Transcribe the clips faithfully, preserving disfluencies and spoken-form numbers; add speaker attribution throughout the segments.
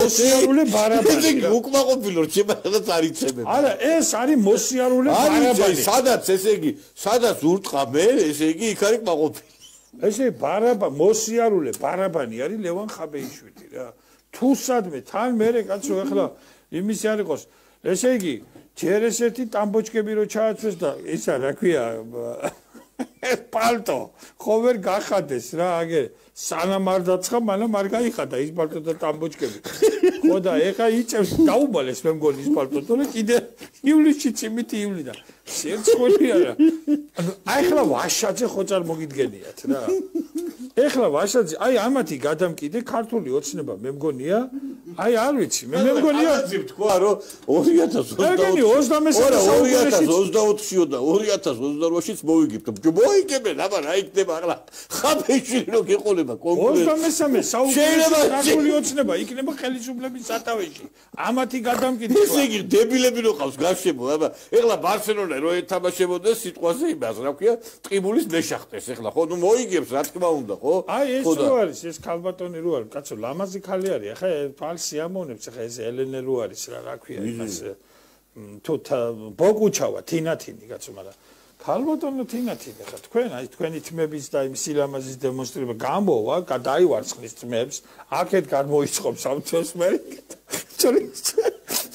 Speaker 1: მოსიარულე ბარაბანი.
Speaker 2: ესე იგი უკმაყოფილო რჩებადაც არ იცემენ.
Speaker 1: არა, ეს არის მოსიარულე ბარაბანი.
Speaker 2: სადაც ესე იგი, სადაც ურტყა მე, ესე იგი იქ არის კმაყოფილი.
Speaker 1: ესე ბარაბა მოსიარულე ბარაბანი არის ლევან ხაბეიშვილი რა. თუ სადმე თან მერე კაცო ახლა იმის არ იყოს. ესე იგი ჯერ ესეთი ტამბოჩკები რო ჩააცვეს და ისა რა ქვია პალტო ხო ვერ გახადეს რა აგე სანამ არ დაცხა მანამ არ გაიხადა ის პალტო და ტამბოჩკები ხო და ეხა იწევს დაუბალეს მე მგონი ის პალტო თორე კიდე ივლისში წიმითი ივლიდა სერცხული არა ანუ ახლა ვაშაძე ხო წარმოგიდგენიათ რა ეხლა ვაშაძე აი ამათი გადამკიდე ქართული ოცნება მე მგონია აი არ ვიცი მე მე მგონია
Speaker 2: აზი თქვა რომ ორი ათას ოცდაოთხში და ორი ათას ოცდაოთხშიც მოვიგებთ მოიგებენ აბა რა იქნება ახლა ხაფეიშვილი რო გიყოლება კონკრეტულად
Speaker 1: ოცდამესამე საუკუნის ქართული ოცნება იქნება ხელისუფლების სათავეში ამათი გადამკიდე
Speaker 2: ესე იგი დებილები რო ყავს გარშემო აბა ეხლა ბარსელონა რო ეთამაშებოდეს სიტყვაზე იმას რა ქვია ტყიბულის მეშახტეს ეხლა ხო ნუ მოიგებს რა თქმა უნდა ხო
Speaker 1: აი ეს რო არის ეს ქალბატონი რო არის კაცო ლამაზი ხალი არის ახლა ფალს სიამოვნებს ახლა ეს ელენე რო არის რა რა ქვია იმას თუ ბოგუჩავა თინათინი კაცო მაგრამ ქალბატონო თინათინი ხა თქვენ აი თქვენი თმების და იმ სილამაზის დემონსტრირება გამოვა გადაივარცხნის თმებს აქეთ გამოიწყობს ამ თვეს მე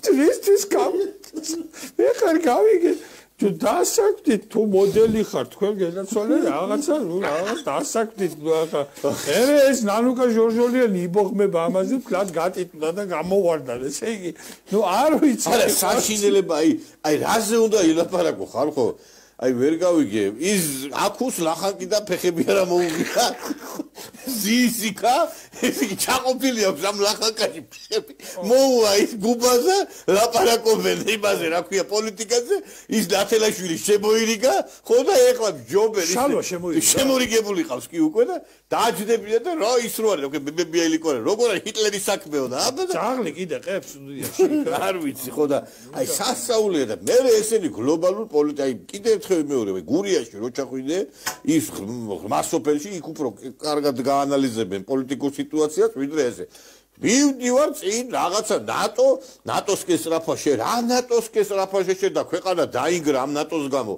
Speaker 1: ტურისტის კამ ეხარ გავიგე თუ დასაკვდით თუ მოდელი ხარ თქვენ გენაცვალე რაღაცა ნუ რაღაც დასაკვდით ახლა ერე ეს ნანუკა ჟორჟოლიანი იბოღმება ამაზე ფლად გატიტულა და გამოვარდა ესე იგი ნუ არ ვიცი
Speaker 2: არა საშინელება აი აი რაზე უნდა ილაპარაკო ხალხო აი ვერ გავიგე ის აქუს ლახანკი და ფეხები არა მოუღია ზისიკა ესე იგი ჩაყოფილი აქვს ამ ლახანკაში ფეხები მოუვა ის გუბაზე ლაპარაკობენ იმაზე რა ქვია პოლიტიკაზე ის ნათელაშვილი შემოირიგა ხო და ეხლა ჯობელი შემოირიგებული ყავს კი უკვე და დააჯდებია და რა ის რო არის ბებია ილიკორე როგორ არის ჰიტლერის საქმეო და აბა
Speaker 1: ძაღლი კიდე ყებს
Speaker 2: არ ვიცი ხო და აი სასწაულია და მე ესენი გლობალურ პოლიტიკა აი კიდე ერთხელ მეორე გურიაში რო ჩახვიდე ის მასოფელში იქ უფრო კარგად გაანალიზებენ პოლიტიკურ სიტუაციას ვიდრე ესე მივდივარ წინ რაღაცა ნატო ნატოს კესრაფაში რა ნატოს კესრაფაში შედა ქვეყანა დაინგრა ამ ნატოს გამო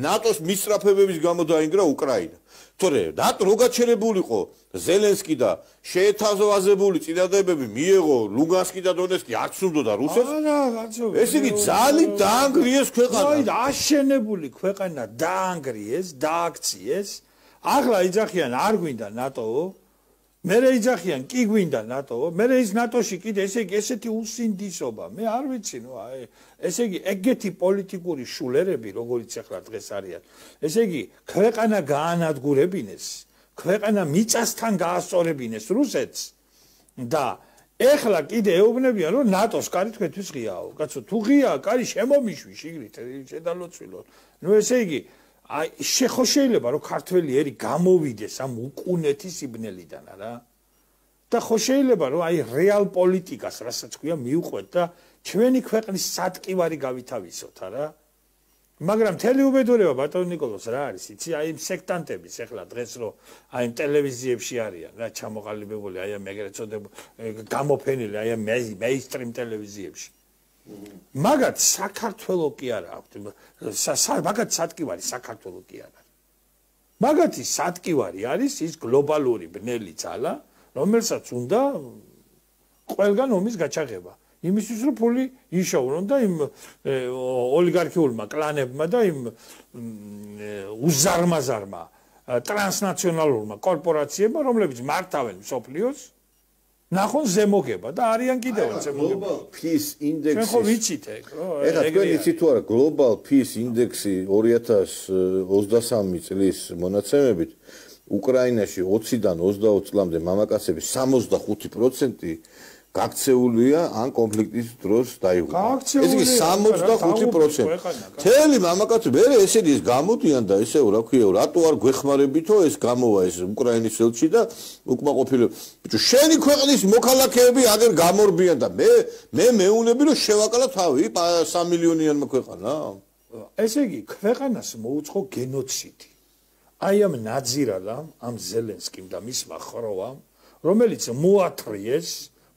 Speaker 2: ნატოს მისწრაფებების გამო დაინგრა უკრაინა თორე ნატო რო გაჩერებულიყო ზელენსკი და შეეთავაზებული წინადადებები მიეღო ლუგანსკი და დონეცკი არც უნდოდა რუსეთს
Speaker 1: არა კაცო
Speaker 2: ეს იგი ძალიან დაანგრიეს ქვეყანა
Speaker 1: აი აშენებული ქვეყანა დაანგრიეს დააქციეს ახლა იძახიან არ გვინდა ნატო მერე იძახიან კი გვინდა ნატო მერე ის ნატოში კიდე ესე იგი ესეთი უსინდისობა მე არ ვიცი ნუ აი ესე იგი ეგეთი პოლიტიკური შულერები როგორიც ახლა დღეს არიან ესე იგი ქვეყანა გაანადგურებინეს ქვეყანა მიწასთან გაასწორებინეს რუსეთს და ეხლა კიდე ეუბნებიან რომ ნატოს კარი თქვენთვის ღიაო კაცო თუ ღია კარი შემომიშვი შიგნით შედალოცვილო ნუ ესე იგი აი შეხო შეიძლება რომ ქართველი ერი გამოვიდეს ამ უკუნეთის იბნელიდან რა და ხო შეიძლება რომ აი რეალ პოლიტიკას რასაც ქვია მივყვეთ და ჩვენი ქვეყნის სატკივარი გავითავისოთ რა მაგრამ მთელი უბედურება ბატონ ნიკოლოს რა არის იცი აი იმ სექტანტების ეხლა დღეს რომ აი იმ ტელევიზიებში არიან რა ჩამოყალიბებული აი ამ ეგრეთ წოდებული გამოფენილი აი ამ მეინსტრიმ ტელევიზიებში მაგათ საქართველო კი არა აქვს მაგათ სატკივარი საქართველო კი არა მაგათი სატკივარი არის ის გლობალური ბნელი ძალა რომელსაც უნდა ყველგან ომის გაჩაღება იმისთვის რომ ფული იშოვრონ და იმ ოლიგარქიულმა კლანებმა და იმ უზარმაზარმა ტრანსნაციონალურმა კორპორაციებმა რომლებიც მართავენ მსოფლიოს ნახონ ზემოგება და არიან კიდევ ზემოგება
Speaker 2: Global Peace Index-ის
Speaker 1: ხო ვიცით ეგ ხო
Speaker 2: ეხლა თქვენ იცით თუ არა Global Peace Index-ი ორი ათას ოცდასამი წლის მონაცემებით უკრაინაში ოციდან ოცდაოთხ წლამდე მამაკაცების სამოცდახუთი პროცენტი გაქცეულია ან კონფლიქტის დროს დაიღუპა. ეს იგი სამოცდახუთი პროცენტი. თელი მამაკაცები მე ესენი ის გამოდიან და ესე რა ქვია, რატო არ გვეხმარებითო ეს გამოვა ეს უკრაინის ელჩი და უკმაყოფილება. ბიჭო, შენი ქვეყნის მოქალაქეები აგერ გამორბიან და მე მე მეუნები რომ შევაკალა თავი სამი მილიონიანმა ქვეყანა.
Speaker 1: ესე იგი ქვეყანას მოუწყო გენოციდი. აი ამ ნაძირალამ, ამ ზელენსკიმ და მისმა ხროვამ, რომელიც მოათრიეს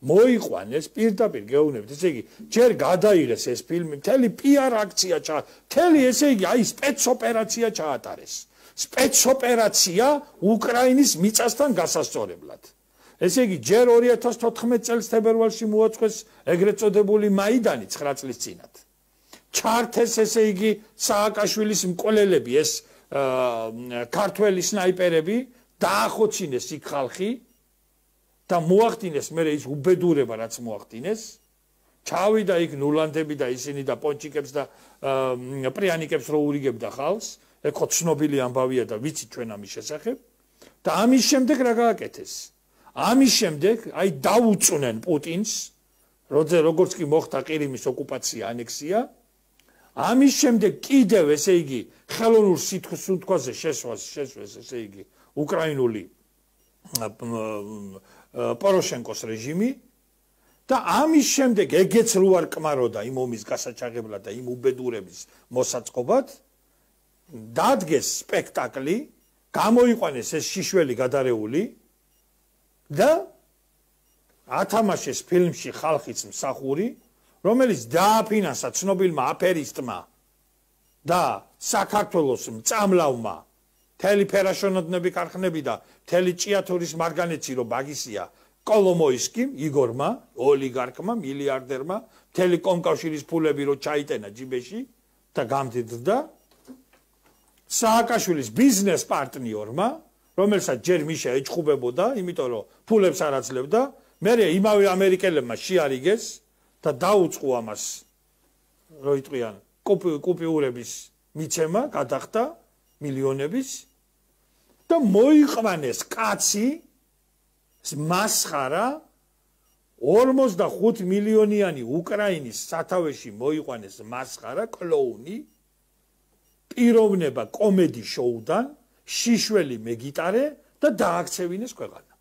Speaker 1: მოიყვანეს პირდაპირ გეუბნებით, ესე იგი, ჯერ გადაიღეს ეს ფილმი, მთელი პიარ აქცია ჩა, მთელი ესე იგი, აი სპეცოპერაცია ჩაატარეს. სპეცოპერაცია უკრაინის მიწასთან გასასწორებლად. ესე იგი, ჯერ ორი ათას თოთხმეტ წელს თებერვალში მოაწყვეს ეგრეთ წოდებული მაიდანი ცხრა წლის წინათ. ჩართეს ესე იგი სააკაშვილის მკვლელები, ეს ქართველი სნაიპერები, დაახოცინეს იქ ხალხი და მოახდინეს მე ის უბედურება რაც მოახდინეს. ჩავიდა იქ ნულანდები და ისინი და პონჩიკებს და პრიანიკებს რო ურიგებდა ხალხს. ეგ ხო ცნობილი ამბავია და ვიცით ჩვენ ამის შესახებ. და ამის შემდეგ რა გააკეთეს? ამის შემდეგ აი დაუწუნენ პუტინს, როცა როგორც კი მოხდა ყირიმის ოკუპაცია, ანექსია. ამის შემდეგ კიდევ ესე იგი ხელოვნურ სიტყვაზე შესვას შესვეს ესე იგი უკრაინული პოროშენკოს რეჟიმი და ამის შემდეგ ეგეც რო არ კმაროდა იმ ომის გასაჩაღებლად და იმ უბედურების მოსაწყობად დადგეს სპექტაკლი, გამოიყვანეს ეს შიშველი გადარეული და ათამაშეს ფილმში ხალხის მსახური, რომელიც დააფინანსა ცნობილმა აფერისტმა და საქართველოს მწამლავმა მთელი ფერაშონოდნები ქარხნები და მთელი ჭიათურის მარგანეცი რო ბაგისია კოლომოისკიმ, იგორმა, ოლიგარქმა, მილიარდერმა, მთელი კომკავშირის ფულები რო ჩაიტენა ჯიბეში და გამდიდრდა სააკაშვილის ბიზნეს პარტნიორმა, რომელსაც ჯერ მიშა ეჭხუბებოდა, იმიტომ რომ ფულებს არ აძლევდა, მერე იმავე ამერიკელებმა შეარიგეს და დაუწყო ამას რო იტყვიან კუპიურების მიცემა გადახდა მილიონების და მოიყვანეს კაცი მასხარა ორმოცდახუთ მილიონიანი უკრაინის სათავეში მოიყვანეს მასხარა კლოუნი პიროვნება კომედი შოუდან შიშველი მეგიტარე და დააქცევინეს ქვეყანა.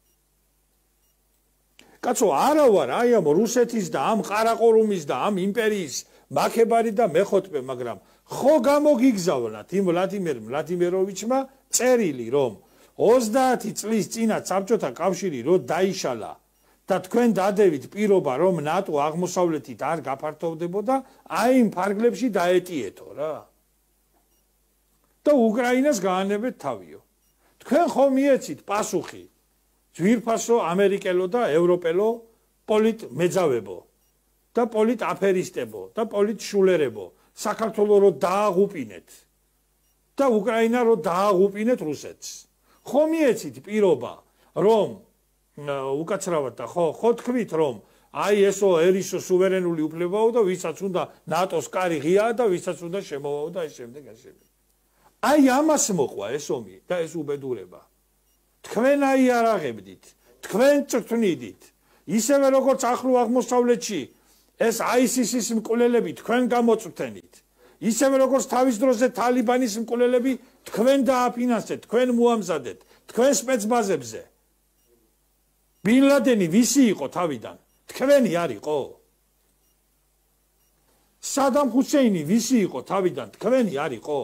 Speaker 1: კაცო არა ვარ აი ამ რუსეთის და ამ ყარაყორუმის და ამ იმპერიის მაქებარი და მეხოტბე, მაგრამ ხო გამოგიგზავნათ იმ ვლადიმერ ვლადიმიროვიჩმა წერილი, რომ ოცდაათი წლის წინათ საბჭოთა კავშირი რო დაიშალა და თქვენ დადევით პირობა, რომ ნატო აღმოსავლეთით არ გაფართოვდებოდა, აი იმ ფარგლებში დაეტიეთო რა. და უკრაინას გაანებეთ თავიო. თქვენ ხომ მიეცით პასუხი ძვირფასო ამერიკელო და ევროპელო პოლიტ მეძავებო და პოლიტ აფერისტებო და პოლიტ შულერებო საქართველოს რო დააღუპინეთ და უკრაინა რო დააღუპინეთ რუსეთს. ხომ მიეცით პირობა, რომ უკაცრავად და ხო ხო თქვით, რომ აი ესო ერისო სუვერენული უფლებაო და ვისაც უნდა ნატოს კარი ღიაა და ვისაც უნდა შემოვაო და ეს შემდეგ ეს შემდეგ. აი ამას მოყვა ეს ომი და ეს უბედურება. თქვენ აი არ აღებდით, თქვენ წვრთნიდით, ისევე როგორც ახლო აღმოსავლეთში ეს აისისის მკვლელები თქვენ გამოწვრთენით, ისევე როგორც თავის დროზე თალიბანის მკვლელები თქვენ დააფინანსეთ, თქვენ მოამზადეთ, თქვენ სპეცბაზებზე. ბინ ლადენი ვისი იყო თავიდან? თქვენი არ იყო? სადამ ჰუსეინი ვისი იყო თავიდან? თქვენი არ იყო?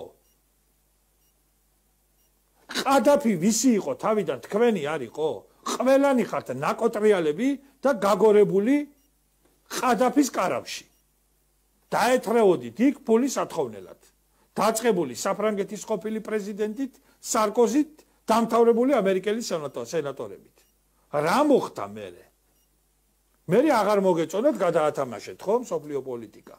Speaker 1: ყადაფი ვისი იყო თავიდან? თქვენი არ იყო? ყველანი ხართ ნაკოტრიალები და გაგორებული ყადაფის კარავში. დაეთრეოდით იქ ფულის ათხოვნელად. დაწყებული საფრანგეთის ყოფილი პრეზიდენტით, სარკოზით, დამთავრებული ამერიკელი სენატორებით. რა მოხდა მერე? მერე აღარ მოგეწონათ გადაათამაშეთ ხო მსოფლიო პოლიტიკა.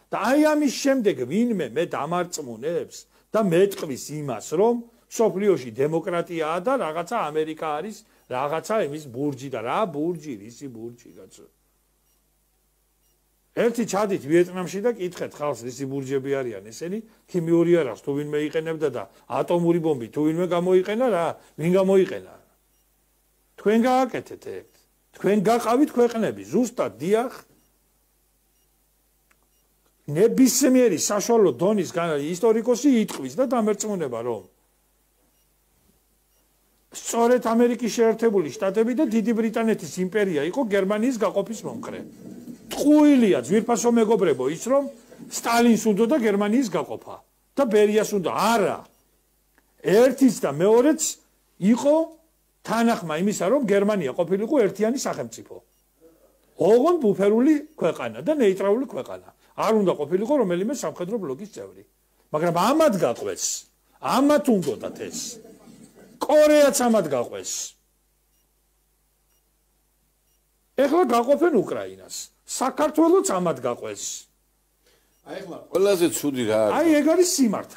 Speaker 1: და აი ამის შემდეგ ვინმე მე დამარწმუნებს და მეტყვის იმას, რომ სოფლიოში დემოკრატიაა და რაღაცა ამერიკა არის, რაღაცა იმის ბურჯი და რა ბურჯი, რისი ბურჯი კაცო. ერთი ჩადით ვიეტნამში და კითხეთ ხალხს რისი ბურჯები არიან ესენი, ქიმიური არას თუ ვინმე იყენებდა და ატომური ბომბი თუ ვინმე გამოიყენა რა, ვინ გამოიყენა? თქვენ გააკეთეთ ეგ. თქვენ გაყავით ქვეყნები, ზუსტად დიახ. ნებისმიერი საშუალო დონის ისტორიკოსი იტყვის და დამერწმუნება, რომ სწორედ ამერიკის შეერთებული შტატები და დიდი ბრიტანეთის იმპერია იყო გერმანიის გაყოფის მომხრე. ტყუილია ძვირფასო მეგობრებო ის, რომ სტალინს უნდა და გერმანიის გაყოფა და ბერიას უნდა. არა. ერთიც და მეორეც იყო თანახმა იმისა, რომ გერმანია ყოფილიყო ერთიანი სახელმწიფო. ოღონდ ბუფერული ქვეყანა და ნეიტრალური ქვეყანა. არ უნდა ყოფილიყო რომელიმე სამხედრო ბლოკის წევრი. მაგრამ ამათ გაყვეს. ამათ უნდათ ეს. კორეაც ამათ გაყვეს. ეხლა გაყოფენ უკრაინას. საქართველოც ამათ გაყვეს.
Speaker 2: აი ახლა ყველაზე ცუდი რა არის?
Speaker 1: აი ეგ არის სიმართლე.